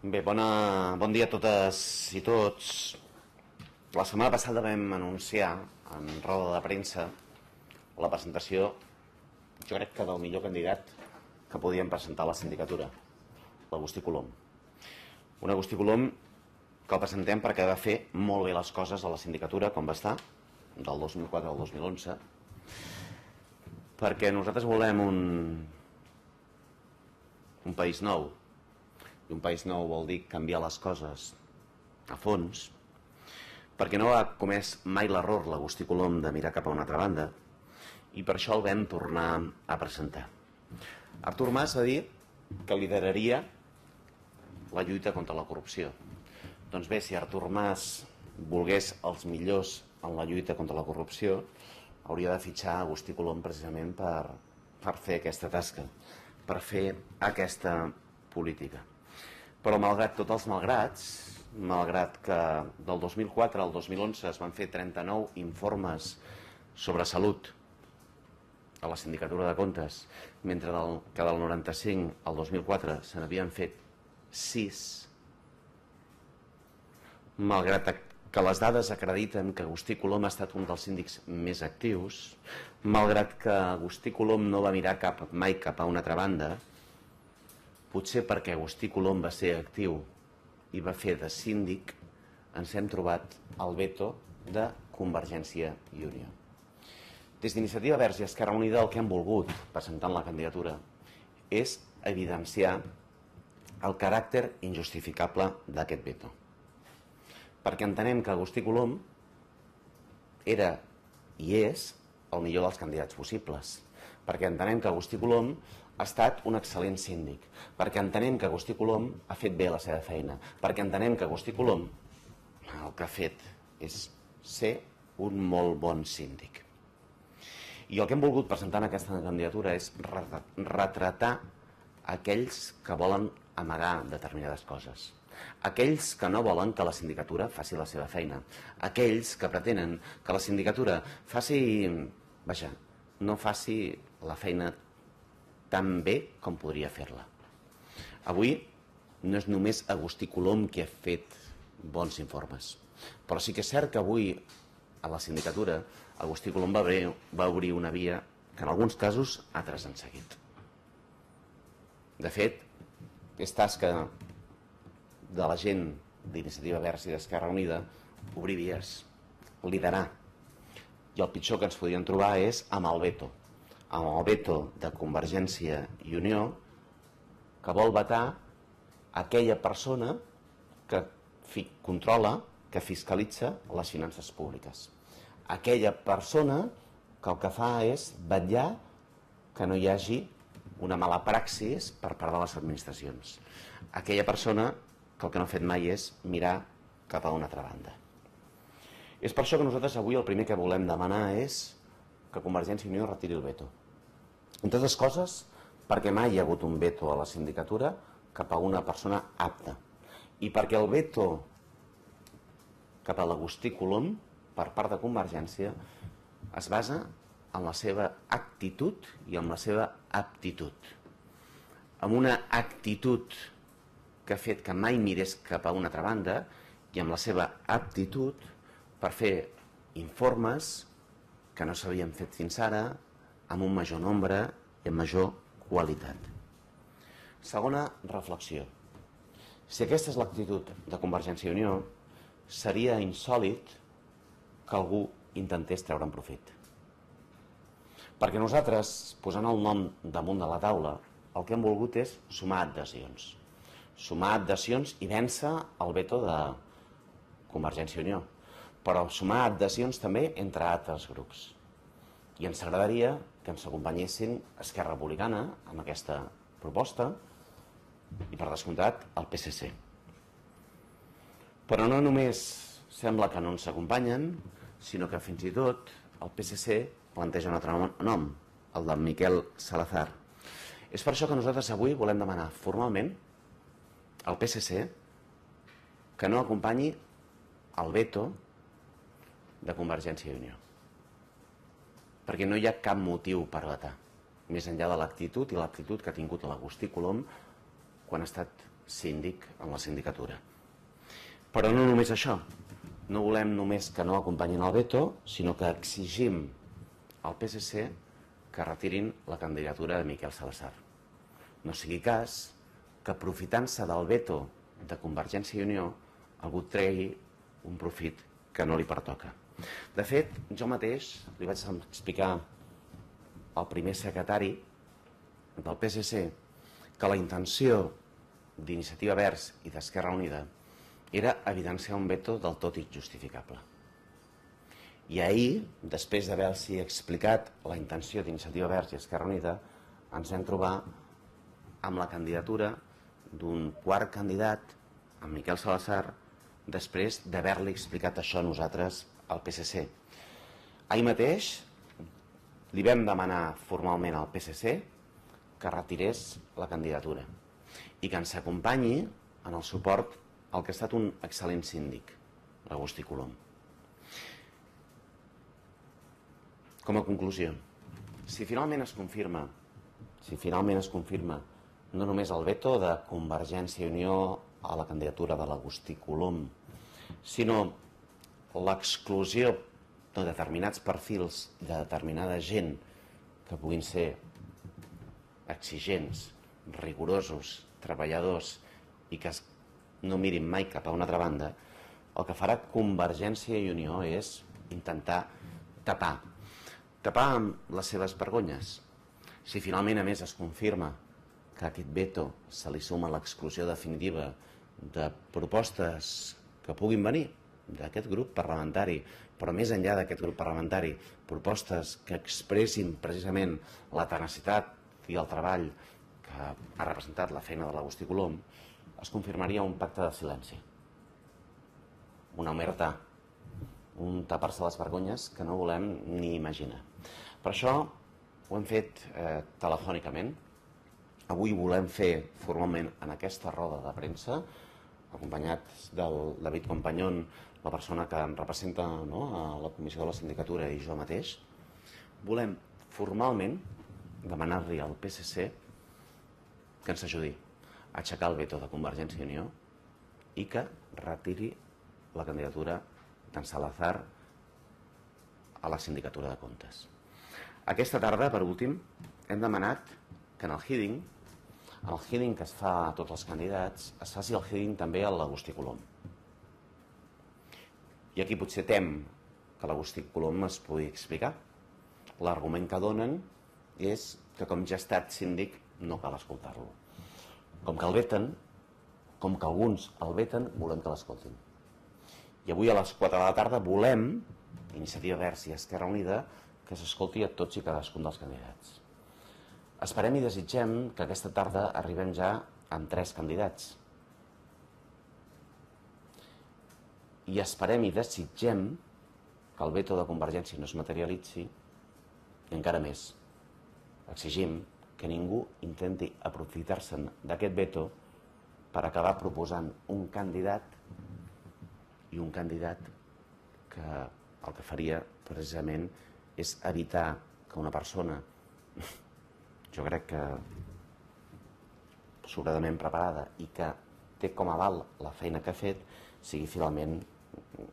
Bé, bon dia a totes i tots. La setmana passada vam anunciar en roda de premsa la presentació, jo crec que del millor candidat que podíem presentar a la sindicatura, l'Agustí Colom. Un Agustí Colom que el presentem perquè va fer molt bé les coses a la sindicatura, com va estar, del 2004 al 2011, perquè nosaltres volem un país nou. I un país nou vol dir canviar les coses a fons, perquè no ha comès mai l'error l'Agustí Colom de mirar cap a una altra banda, i per això el vam tornar a presentar. Artur Mas va dir que lideraria la lluita contra la corrupció. Doncs bé, si Artur Mas volgués els millors en la lluita contra la corrupció, hauria de fitxar Agustí Colom precisament per fer aquesta tasca, per fer aquesta política. Però malgrat tots els malgrats, malgrat que del 2004 al 2011 es van fer 39 informes sobre salut a la Sindicatura de Comptes, mentre que del 95 al 2004 se n'havien fet 6, malgrat que les dades acrediten que Agustí Colom ha estat un dels síndics més actius, malgrat que Agustí Colom no va mirar mai cap a una altra banda, potser perquè Agustí Colom va ser actiu i va fer de síndic, ens hem trobat el veto de Convergència i Unió. Des d'Iniciativa Verds i Esquerra Unida el que hem volgut, presentant la candidatura, és evidenciar el caràcter injustificable d'aquest veto. Perquè entenem que Agustí Colom era i és el millor dels candidats possibles. Perquè entenem que Agustí Colom ha estat un excel·lent síndic, perquè entenem que Agustí Colom ha fet bé la seva feina, perquè entenem que Agustí Colom el que ha fet és ser un molt bon síndic. I el que hem volgut presentar en aquesta candidatura és retratar aquells que volen amagar determinades coses, aquells que no volen que la sindicatura faci la seva feina, aquells que pretenen que la sindicatura no faci la feina tan bé com podria fer-la. Avui no és només Agustí Colom qui ha fet bons informes, però sí que és cert que avui a la sindicatura Agustí Colom va obrir una via que en alguns casos altres han seguit. De fet, és tasca de la gent d'Iniciativa Verds i d'Esquerra Unida obrir vies, liderar. I el pitjor que ens podien trobar és amb el veto de Convergència i Unió, que vol vetar aquella persona que controla, que fiscalitza les finances públiques. Aquella persona que el que fa és vetllar que no hi hagi una mala praxis per part de les administracions. Aquella persona que el que no ha fet mai és mirar cap a una altra banda. És per això que nosaltres avui el primer que volem demanar és que Convergència i Unió retiri el veto. Entre altres coses, perquè mai hi ha hagut un veto a la sindicatura cap a una persona apta. I perquè el veto cap a l'Agustí Colom per part de Convergència es basa en la seva actitud i en la seva aptitud. Amb una actitud que ha fet que mai mirés cap a una altra banda i amb la seva aptitud per fer informes que no s'havien fet fins ara, amb un major nombre i amb major qualitat. Segona reflexió. Si aquesta és l'actitud de Convergència i Unió, seria insòlit que algú intentés treure'n profit. Perquè nosaltres, posant el nom damunt de la taula, el que hem volgut és sumar adhesions. Sumar adhesions i vèncer el veto de Convergència i Unió, però sumar adhesions també entre altres grups. I ens agradaria que ens acompanyessin Esquerra Republicana amb aquesta proposta i, per descomptat, el PSC. Però no només sembla que no ens acompanyen, sinó que fins i tot el PSC planteja un altre nom, el de Miquel Salazar. És per això que nosaltres avui volem demanar formalment al PSC que no acompanyi el veto de Convergència i Unió. Perquè no hi ha cap motiu per vetar, més enllà de l'actitud i l'aptitud que ha tingut l'Agustí Colom quan ha estat síndic en la sindicatura. Però no només això, no volem només que no acompanyin el veto, sinó que exigim al PSC que retirin la candidatura de Miquel Salazar. No sigui cas que, aprofitant-se del veto de Convergència i Unió, algú tregui un profit que no li pertoca. De fet, jo mateix li vaig explicar al primer secretari del PSC que la intenció d'Iniciativa Verds i d'Esquerra Unida era evidenciar un veto del tot injustificable. I ahir, després d'haver-los explicat la intenció d'Iniciativa Verds i Esquerra Unida, ens vam trobar amb la candidatura d'un quart candidat, en Miquel Salazar, després d'haver-li explicat això a nosaltres al PSC. Ahir mateix li vam demanar formalment al PSC que retirés la candidatura i que ens acompanyi en el suport al que ha estat un excel·lent síndic, l'Agustí Colom. Com a conclusió, si finalment es confirma no només el veto de Convergència i Unió a la candidatura de l'Agustí Colom, sinó l'exclusió de determinats perfils i de determinada gent que puguin ser exigents, rigorosos, treballadors i que no mirin mai cap a una altra banda, el que farà Convergència i Unió és intentar tapar amb les seves vergonyes. Si finalment, a més, es confirma que a aquest veto se li suma l'exclusió definitiva de propostes que puguin venir d'aquest grup parlamentari, però més enllà d'aquest grup parlamentari, propostes que expressin precisament la tenacitat i el treball que ha representat la feina de l'Agustí Colom, es confirmaria un pacte de silenci, una omertà, un tapar-se les vergonyes que no volem ni imaginar. Per això ho hem fet telefònicament. Avui volem fer formalment en aquesta roda de premsa, acompanyats del David Companyón, la persona que em representa a la comissió de la sindicatura, i jo mateix, volem formalment demanar-li al PSC que ens ajudi a aixecar el veto de Convergència i Unió i que retiri la candidatura d'en Salazar a la sindicatura de comptes. Aquesta tarda, per últim, hem demanat que en el hearing que es fa a tots els candidats, es faci el hearing també a l'Agustí Colom. I aquí potser tem que l'Agustí Colom es pugui explicar. L'argument que donen és que, com ja ha estat síndic, no cal escoltar-lo. Com que el veten, com que alguns el veten, volem que l'escoltin. I avui a les 4 de la tarda volem, Iniciativa Verds i Esquerra Unida, que s'escolti a tots i cadascun dels candidats. Esperem i desitgem que aquesta tarda arribem ja amb 3 candidats. I esperem i desitgem que el veto de Convergència no es materialitzi i encara més, exigim que ningú intenti aprofitar-se'n d'aquest veto per acabar proposant un candidat que el que faria precisament és evitar que una persona, jo crec que sobradament preparada i que té com a aval la feina que ha fet, sigui finalment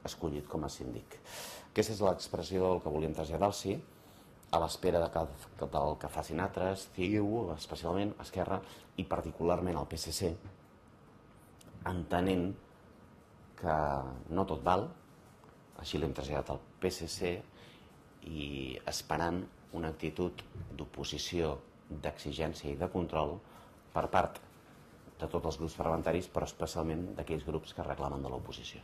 escollit com a síndic. Aquesta és l'expressió del que volíem traslladar-los, a l'espera del que facin altres, CiU, especialment Esquerra, i particularment el PSC, entenent que no tot val, així l'hem traslladat al PSC, i esperant una actitud d'oposició, d'exigència i de control per part de tots els grups parlamentaris, però especialment d'aquells grups que reclamen de l'oposició.